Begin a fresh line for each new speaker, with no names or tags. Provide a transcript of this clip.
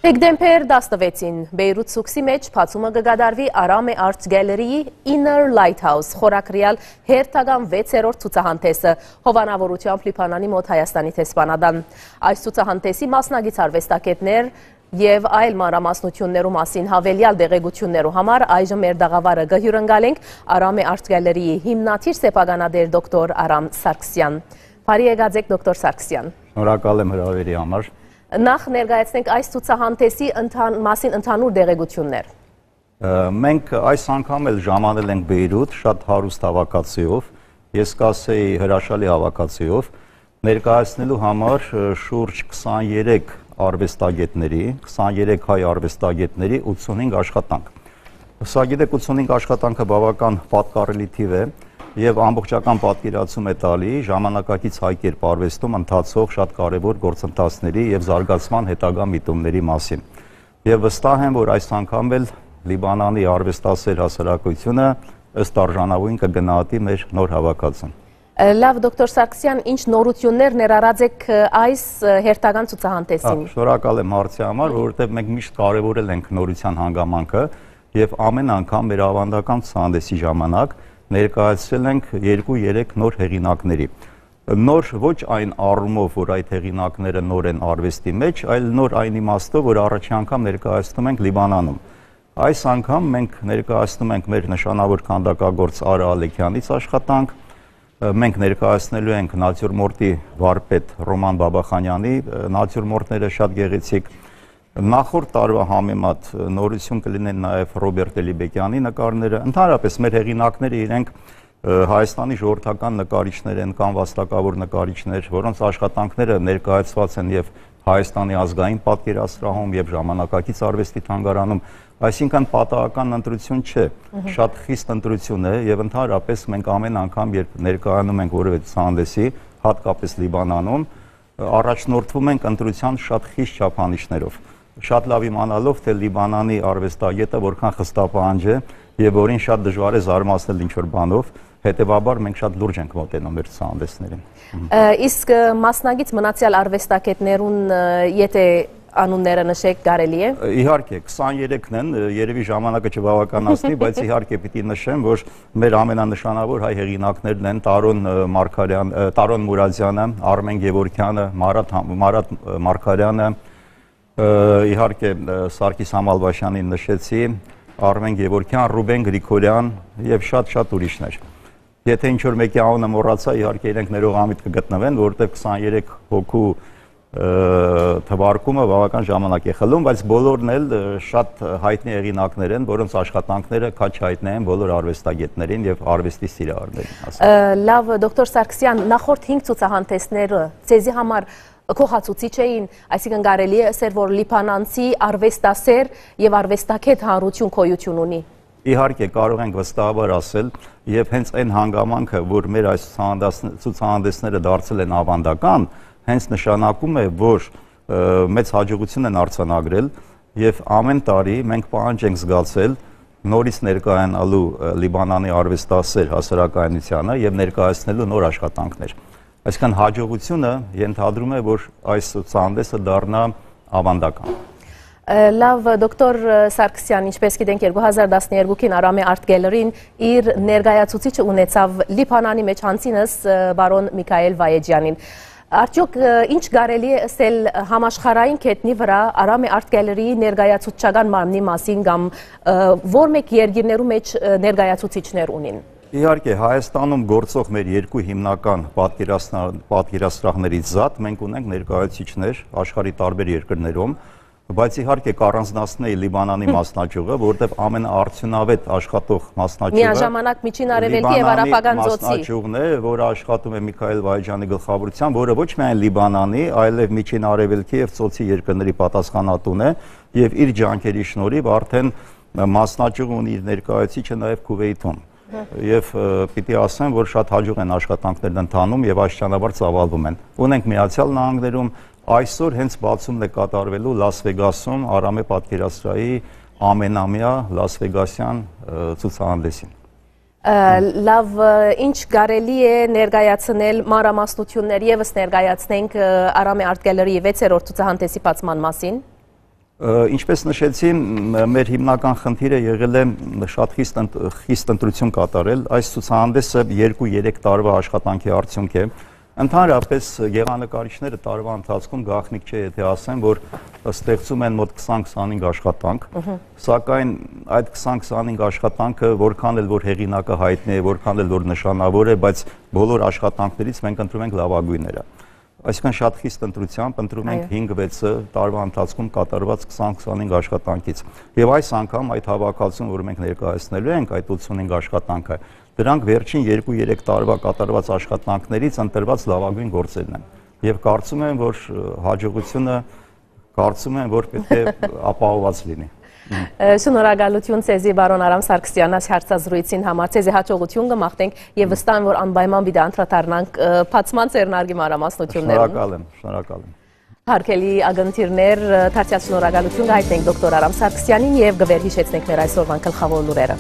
Հեկդեմպեր 16-ին Բեյրութ սուքսի մեջ փացումը կգադարվի Արամե Art Gallery-ի Inner Lighthouse խորակրյալ հերթական 6-րդ ցուցահանդեսը հովանավորությամբ Լիբանանի մոտ Հայաստանի տեսփանադան։ Այս ցուցահանդեսի մասնագիծ արվեստագետներ եւ այլ մանրամասնություններու մասին հավելյալ դեղեցություններու համար այժմ մեր դաղավարը կհյուրընկալենք Արամե Art Gallery-ի հիմնադիր սեփականատեր դոկտոր Արամ Սարգսյան։ Բարի եկած դոկտոր Սարգսյան։
Շնորհակալ եմ հրավերի համար։
Նախ ներկայացնենք այս ցուցահանդեսի մասին ընդհանուր դեղեցություններ։
Մենք այս անգամ էլ ժամանել ենք Բեյրութ շատ հարուստ հավաքածուով, ես կասեի հրաշալի հավաքածուով, ներկայացնելու համար շուրջ 23 արվեստագետների, 23 հայ արվեստագետների 85 աշխատանք։ Սա գիտեք 85 աշխատանքը բավական պատկառելի թիվ է եւ ամբողջական պատկերացում է տալի ժամանակակից հայ կերպարվեստում ընթացող շատ կարևոր գործընթացների եւ զարգացման հետագա միտումների մասին։ Եվ վստահ եմ, որ այս անգամ էլ Լիբանանի արվեստասեր հասարակությունը ըստ արժանավորին կգնահատի մեր նոր հավաքածուն։
Լավ, դոկտոր Սարգսյան, ինչ նորություններ ներառած եք այս հերթական ցուցահանդեսին։
Շնորհակալ եմ հարցի համար, որովհետեւ մենք միշտ կարևորել ենք նորության հանգամանքը եւ ամեն անգամ մեր ավանդական ցուցահանդեսի ժամանակ ներկայացրել ենք 2-3 նոր հեղինակների։ Նոր ոչ այն առումով, որ այդ հեղինակները նոր են արվեստի մեջ, այլ նոր այն իմաստով, որ առաջի անգամ ներկայացնում ենք Լիբանանում։ Այս անգամ մենք ներկայացնում ենք մեր նշանավոր քանդակագործ Արա Ալեքյանից աշխատանք, մենք ներկայացնելու ենք նատյուրմորտի վարպետ Ռոման Բաբախանյանի նատյուրմորտները շատ գեղեցիկ։ Նախորդ տարվա համեմատ նորություն կլինեն նաև Ռոբերտ Էլիբեկյանի նկարները։ Ընդհանրապես մեր հեղինակները իրենք Հայաստանի ժողովրդական նկարիչներ են կամ վաստակավոր նկարիչներ, որոնց աշխատանքները ներկայացված են եւ Հայաստանի ազգային պատկերասրահում եւ ժամանակակից արվեստի թանգարանում, այսինքն պատահական ընտրություն չէ, շատ խիստ ընտրություն է եւ ընդհանրապես մենք ամեն անգամ երբ ներկայանում ենք որևէ ցուցահանդեսի, հատկապես Լիբանանում, առաջնորդվում ենք ընտրության շատ խիստ չափանիշներով։ Շատ լավ իմանալով, թե Լիբանանի արվեստագետը որքան խստապահանջ է եւ որին շատ դժվար է զարմացնել ինչ-որ բանով, հետեւաբար մենք շատ լուրջ ենք մոտենում մեր ցուցահանդեսներին։
Իսկ մասնագիծ մնացյալ արվեստագետներուն եթե անունները նշեք կարելի է։
Իհարկե 23-ն են, երևի ժամանակը չբավականացնի, բայց իհարկե պիտի նշեմ, որ մեր ամենանշանավոր հայ հեղինակներն են Տարոն Մուրադյանը, Արմեն Գևորգյանը, Մարատ Մարգարյանը, իհարկե Սարգիս Համալվաշյանին նշեցի, Արմեն Գևորգյան, Ռուբեն Գրիգորյան եւ շատ ուրիշներ։ Եթե ինչ-որ մեկի անունը մոռացա, իհարկե իրենք ներողամիտ կգտնվեն, որովհետեւ 23 հոգու թվարկումը բավական ժամանակ է խլում, բայց բոլորն էլ շատ հայտնի հեղինակներ են, որոնց աշխատանքները քաչ հայտնի են բոլոր արվեստագետներին եւ արվեստի սիրահարներին։
Լավ, դոկտոր Սարգսյան, նախորդ 5 ցուցահանդեսները ցեզի համար կողացուցիչ էին, այսինքն կարելի է ասել, որ լիբանանցի արվեստասեր եւ արվեստագետ հանրություն գոյություն ունի։
Իհարկե կարող ենք վստահաբար ասել եւ հենց այն հանգամանքը, որ մեր այս ցուցահանդեսները դարձել են ավանդական, հենց նշանակում է, որ մեծ հաջողություն են արձանագրել եւ ամեն տարի մենք պահանջ ենք զգացել նորից ներկայանալու Լիբանանի արվեստասեր հասարակայնությանը եւ ներկայացնելու նոր աշխատանքներ։ Այսինքն հաջողությունը ենթադրում է, որ այս ցուցահանդեսը դառնա ավանդական։
Լավ, դոկտոր Սարգսյան, ինչպես գիտենք 2012-ին Արամե Art Gallery-ին իր ներկայացուցիչը ունեցավ Լիբանանի մեջ հանցինս բարոն Միքայել Վայեջյանին։ Արդյոք ինչ կարելի է ասել համաշխարհային կետնի վրա Արամե Art Gallery-ի ներկայացուցչական մարմնի մասին կամ որ մեկ երկիրներու մեջ ներկայացուցիչներ ունին։
Իհարկե Հայաստանում գործող մեր երկու հիմնական պատկերասրահներից զատ մենք ունենք ներկայացուցիչներ աշխարհի տարբեր երկրներում, բայց իհարկե կառանձնացնեի Լիբանանի մասնաճյուղը, որովհետև ամենաարդյունավետ աշխատող մասնաճյուղը
միաժամանակ Միջին Արևելքի եւ Արաբական ծոցի
մասնաճյուղն է, որը աշխատում է Միքայել Վայեջյանի գլխավորությամբ, որը ոչ միայն Լիբանանի, այլև Միջին Արևելքի եւ ծոցի երկրների պատասխանատուն է եւ իր ջանքերի շնորհիվ արդեն մասնաճյուղը ունի իր ներկայացուցիչը նաեւ Քուվեյթում։ Եվ պիտի ասեմ, որ շատ հաջող են աշխատանքներն ընթանում եւ աստիճանաբար ծավալվում են։ Ունենք Միացյալ Նահանգներում այսօր հենց բացումն է կատարվելու Լաս Վեգասում Արամե պատկերասրահի ամենամյա Լաս Վեգասյան ցուցահանդեսին։
Լավ, ինչ կարելի է ներկայացնել մանրամասնություններ եւս ներկայացնենք Արամե Art Gallery-ի 6-րդ ցուցահանդեսի բացման մասին։
Ինչպես նշեցի, մեր հիմնական խնդիրը եղել է շատ խիստ ընտրություն կատարել։ Այս ցուցահանդեսը 2-3 տարվա աշխատանքի արդյունք է։ Ընդհանրապես գեղանկարիչները տարվա ընթացքում գաղտնիք չէ, եթե ասեն, որ ստեղծում են մոտ 20-25 աշխատանք, սակայն այդ 20-25 աշխատանքը որքան էլ որ հեղինակը հայտնի է, որքան էլ որ նշանավոր է, բայց բոլոր աշխատանքներից մենք ընտրում ենք լավագույնները։ Այսինքն շատ խիստ ընտրությամբ ընտրում ենք 5-6-ը տարվա ընթացքում կատարված 20-25 աշխատանքից։ Եվ այս անգամ այդ հավաքածուն, որ մենք ներկայացնելու ենք, այդ 85 աշխատանքը, դրանք վերջին 2-3 տարվա կատարված աշխատանքներից ընտրված լավագույն գործերն են։ Եվ կարծում եմ, որ հաջողությունը պետք է ապահովված լինի։
Շնորհակալություն ցեզի բարոն Արամ Սարգսյան հարցազրույցին համար, ցեզի հաջողություն կմաղթենք եւ վստահ եմ, որ անպայման պիտի անդրադառնանք բացման ծերնարգի մանրամասնություններում։
Շնորհակալ եմ։
Հարգելի ագնթիրներ, թարցյալ շնորհակալություն կհայտնենք դոկտոր Արամ Սարգսյանին եւ գվեր հիշեցնենք մեր այսօրվան գլխավոր լուրերը։